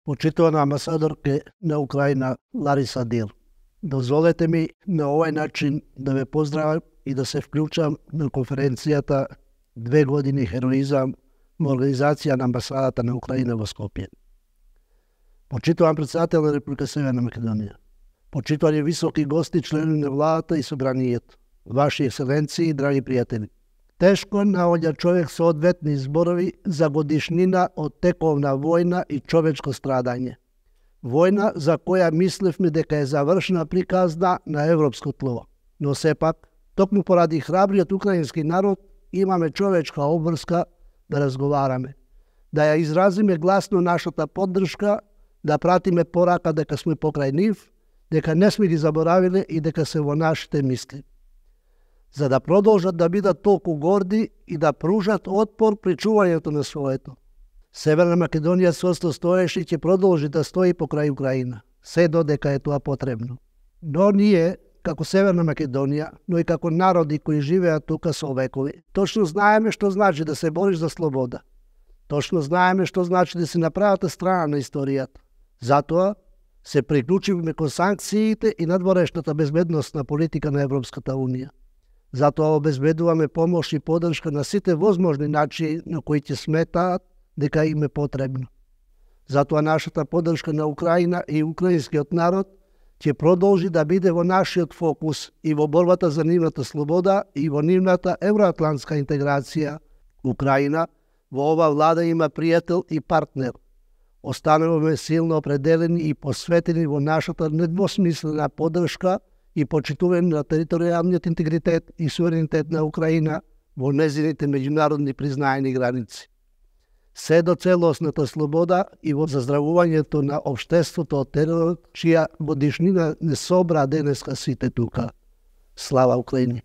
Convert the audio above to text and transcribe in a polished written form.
Почитувана амбасадорке на Украина Лариса Дил, дозволете ми на овај начин да ве поздравам и да се вклучам на конференцијата 2 години хероизам во организација на амбасадата на Украина во Скопје. Почитуван председател на Република Северна Македонија, почитувани високи гости, членови на владата и собранието, ваши екселенции и драги пријатели. Тешко наоѓа човек со одветни зборови за годишнина од тековна војна и човечко страдање. Војна за која мислевме дека е завршена приказна на европско тло. Но сепак, токму поради храбриот украински народ, имаме човечка обврска да разговараме, да ја изразиме гласно нашата поддршка, да пратиме порака дека сме покрај нив, дека не сме ги заборавиле и дека се во нашите мисли, за да продолжат да бидат толку горди и да пружат отпор при чувањето на своето. Северна Македонија сврсто стоеше и ќе продолжи да стои покрај Украина, се додека е тоа потребно. Но ние, како Северна Македонија, но и како народи кои живеат тука со векови, точно знаеме што значи да се бориш за слобода. Точно знаеме што значи да си на правата страна на историјата. Затоа се приклучивме кон санкциите и надворешната безбедносна политика на Европската Унија. Затоа обезбедуваме помош и поддршка на сите возможни начини на кои ќе сметаат дека им е потребно. Затоа нашата поддршка на Украина и украинскиот народ ќе продолжи да биде во нашиот фокус и во борбата за нивната слобода и во нивната евроатлантска интеграција. Украина во ова влада има пријател и партнер. Остануваме силно определени и посветени во нашата недвосмислена поддршка и почитување на територијалниот интегритет и суверенитет на Украина во незините меѓународни признаени граници. Се до целосната слобода и во заздравувањето на општеството од теророт, чија годишнина не собра денеска сите тука. Слава Украини!